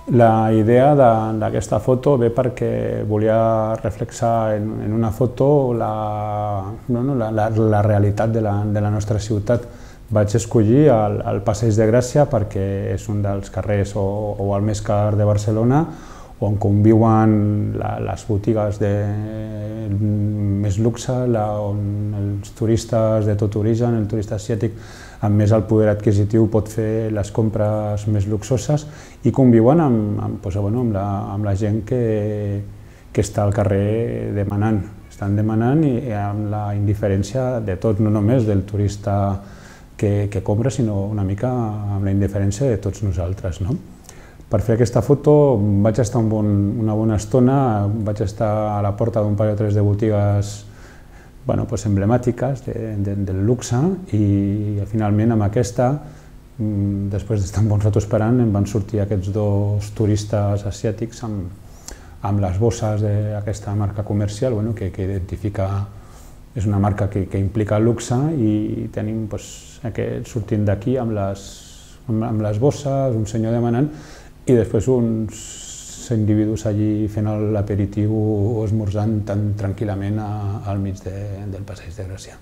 La idea d'aquesta foto ve perquè volia reflexar en una foto la realitat de la nostra ciutat. Vaig escollir el Passeig de Gràcia perquè és un dels carrers o el més car de Barcelona, on conviuen les botigues de més luxe, on els turistes de tot origen, el turista asiàtic amb més el poder adquisitiu pot fer les compres més luxoses i conviuen amb la gent que està al carrer demanant. Estan demanant i amb la indiferència de tot, no només del turista que compra, sinó una mica amb la indiferència de tots nosaltres. Per fer aquesta foto vaig estar una bona estona, vaig estar a la porta d'un parell o tres de botigues emblemàtiques del luxe i finalment amb aquesta, després d'estar un bon rato esperant, em van sortir aquests dos turistes asiàtics amb les bosses d'aquesta marca comercial que identifica, és una marca que implica luxe i tenim sortint d'aquí amb les bosses, un senyor demanant i després uns individus allí fent l'aperitiu o esmorzant tan tranquil·lament al mig del Passeig de Gràcia.